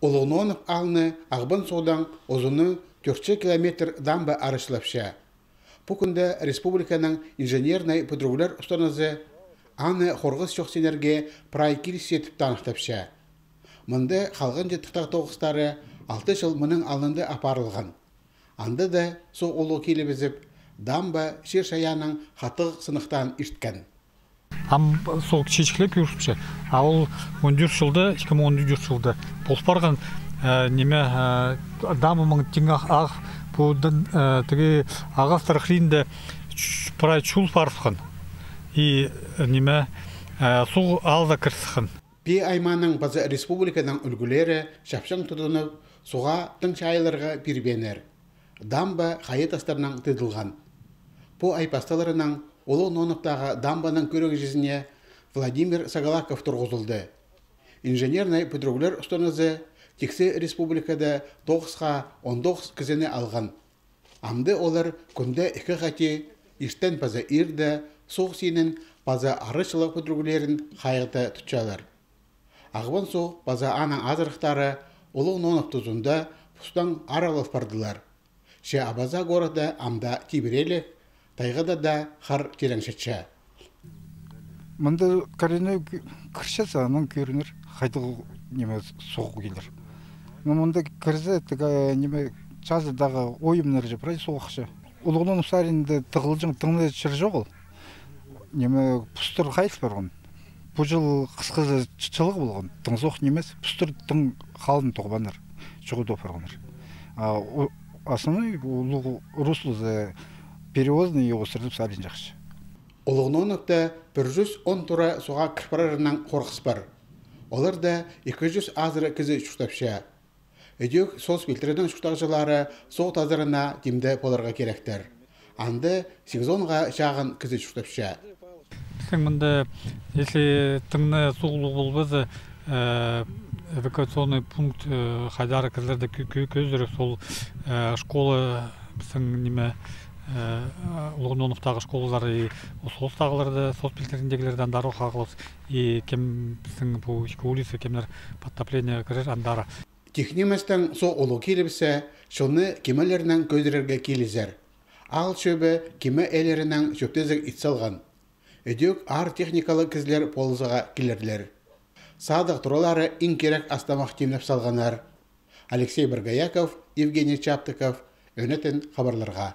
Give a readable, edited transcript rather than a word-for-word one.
Олононов алны ағбын содан озыны 4 километр дамба арышлапша. Пукунда республиканың инженерный патрулер устаназы аны хорғыз шоқсенерге прайкил сетіп танықтапша. Мұнда қалған жеттіктақ тоғыстары 6 жыл мұның алынды апарылған. Анда да со олу келебізіп, дамба шер шаяның қатық сынықтан ішткен. Сол чечкілеп жүріпше, ал 14 жылда, 2014 жылда болып барған неме дамымың теңі ақ бұдан түге ағастар қиында прай чул парсқан. И неме сол алда кірсіқан. Пи айманың базы республиканың үлгілері шапшаң тұтынып, суға тың шайларға бірбенер. Дамба қайетастарынан тыдылған. По айпасталарының Олу Ноновтағы дамбаның көрігі жезіне Владимир Сагалаков тұрғызылды. Инженерный патрулер ұстанызы тексе республикада 9-19 кізені алған. Амды олар күнді 2 қате іштен паза ирді, соқ сенің паза арышылық патрулерін қайғыта тұтчалар. Ағбан соқ паза аның азырықтары Олу Нонов тұзында пұстан аралып бардылар. Ше абаза горада амда тибірелі, тайғада да қар тереңшетші. Мұнда қарыны кіршесі анын көрінір, қайдығы неме соғу келер. Мұнда кірзі неме жазыдағы ойымнар жапырай соғықшы. Улығынан ұсарында тығылжың тыңны шыр жоғыл. Неме пұстыр қайыс барғын. Бұл жыл қысқызы чылығы болған. Тың соқ немес, пұстыр тың қалын тоғбаныр. Жұғы допарғаныр. Асыны улығы руслызы перевозный его сырдып салин жақшы. Олығноновта 110 тұра соға кірпарарынан қорқыс бар. Олар да 200 азыры кізі шүқтапша. Өдек сос билтерінің шүқтақшылары соқ тазырына демді боларға керектер. Анды сезонға шағын кізі шүқтапша. Мұнда, если тыңны соғылу болбазы, эвакуационный пункт қайдары кізлерді көздері сол школы неме Лугуновтағы школалары соғыстағыларды, соцбилтеріндегілерден дару қағылыз, и кем біздің бұл ішкі улисы, кемлер подтопление кірер андары. Техниместің со олу келіпсі, шоны кемелерінің көздерерге келізер. Ал шөбі кеме әлерінің шөптезік итсалған. Өдек ар техникалы кізлер полызыға келерлер. Садық тұралары ең керек астамақ темнеп салғанар. Алексей Баргаяков, Евгений Чаптыков, өнетін хабарларға.